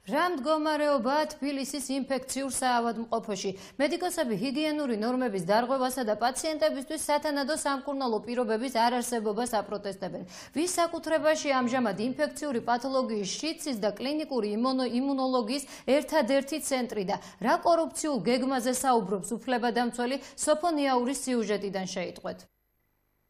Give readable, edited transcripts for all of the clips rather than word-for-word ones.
რა მდგომარეობაა თბილისის ინფექციურ საავადმყოფოში? მედიკოსები ჰიგიენური ნორმების დარღვევასა და პაციენტებისთვის სათანადო სამკურნალო პირობების არარსებობას აპროტესტებენ. ვის საკუთრებაში ამჟამად ინფექციური პათოლოგიის შიდსის და კლინიკური იმუნოლოგიის ერთადერთი ცენტრი და რა კორუფციულ გეგმაზე საუბრობს უფლებადამცველი სოფონიაურის სიუჟეტიდან შეიტყვეთ.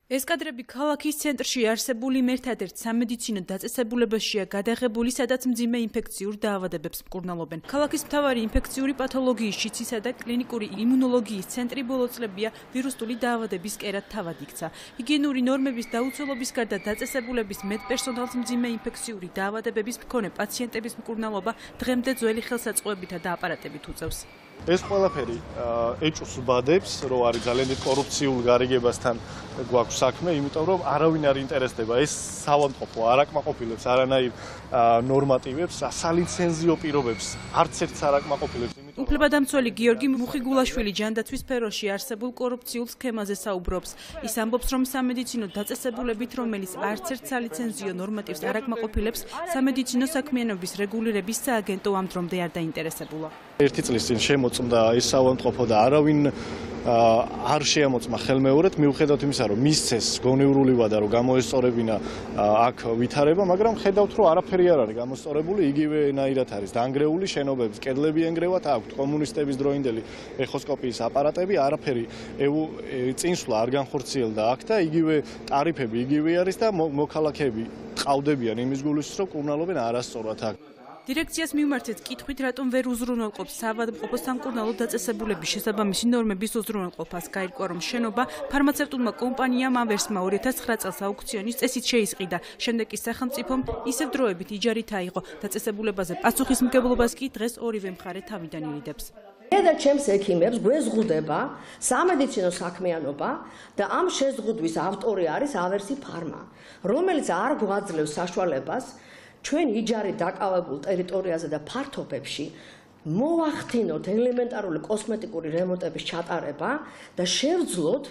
ეს კადრები ქალაქის ცენტრში არსებული ერთადერთ სამედიცინო დაწესებულებაშია გადაღებული, სადაც მძიმე ინფექციურ დაავადებებს მკურნალობენ. ქალაქის მთავარი ინფექციური პათოლოგიის შიდსისა და კლინიკური იმუნოლოგიის ცენტრი ბოლო წლებია ვირუსული დაავადების კერად თავად იქცა. ჰიგიენური ნორმების დაუცველობის გარდა დაწესებულების მედპერსონალს მძიმე ინფექციური დაავადებების მქონე პაციენტების მკურნალობა დღემდე ძველი ხელსაწყოებითა და აპარატებით უწევს. ეს ყველაფერი ეჭვს უბადებს, რომ არის ძალიან დიდ კორუფციულ გარიგებასთან გვაქვს საქმე, იმიტომ რომ არავინ არ ინტერესდება ეს საავადმყოფო არ აკმაყოფილებს არანაირ ნორმატივებს, სალიცენზიო პირობებს, არც ერთს არ აკმაყოფილებს. უფლებადამცველი გიორგი მუხიგულაშვილი ჯანდაცვის სფეროში არსებულ კორუფციულ სქემაზე საუბრობს. ის ამბობს, რომ სამედიცინო დაწესებულებით, რომელიც არც ერთ სალიცენზიო ნორმატივს არ აკმაყოფილებს, სამედიცინო საქმიანობის რეგულირების სააგენტო ამ დრომდე არ დაინტერესებულა. ერთი წლის წინ შემოწმდა ეს საავადმყოფო და არავინ არ შეამოწმა ხელმეორედ, მიუხედავად იმისა, რომ მისცეს გონეურული ვადა, რომ გამოესწორებინა აქ ვითარება, მაგრამ ხედავთ, რომ არაფერი არ არის გამოსწორებული, იგივენაირად არის დანგრეული შენობების კედლები ენგრევათ, აქვთ კომუნისტების დროინდელი ეხოსკოპიის აპარატები, არაფერი წინსვლა არ განხორციელდა აქ და იგივე ტარიფები იგივე არის და მოქალაქეები ყავდებიან იმის გულისთვის, რომ კურნალობენ არასწორად აქ. დირექციას მიმართეთ კითხვით, რატომ ვერ უზრუნველყოფს საავადმყოფოს სამკურნალო დაწესებულების შესაბამისი ნორმების უზრუნველყოფას. გაირკვა, რომ შენობა ფარმაცევტულმა კომპანიამ ავერსმა 2009 წელს აუქციონის წესით შეისყიდა. შემდეგ კი სახელმწიფომ ისევ დროებით იჯარით აიღო. დაწესებულებაზე პასუხისმგებლობას კი დღეს ორივე მხარე თავიდან ირიდებს. და ჩემს ექიმებს გვეზღუდება სამედიცინო საქმიანობა და ამ შეზღუდვის ავტორი არის ავერსი ფარმა, რომელიც არ გვაძლევს საშუალებას ჩვენ იჯარით დაკავებულ ტერიტორიაზე და ფართობებში მოვახდინოთ ელემენტარული კოსმეტიკური რემონტების ჩატარება და შევძლოთ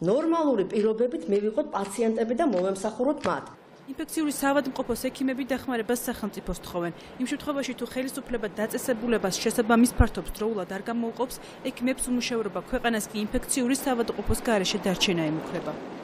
ნორმალური პირობებით მივიღოთ პაციენტები და მოვემსახუროთ მათ. ინფექციური საავადმყოფოს ექიმები დახმარებას სახელმწიფოს თხოვენ. იმ შემთხვევაში თუ ხელისუფლება დაწესებულებას შესაბამის ფართობს დროულად არ გამოუყოფს, ექიმებს უმუშევრობა ქვეყანას კი ინფექციური საავადმყოფოს გარეშე დარჩენა ემუქრება.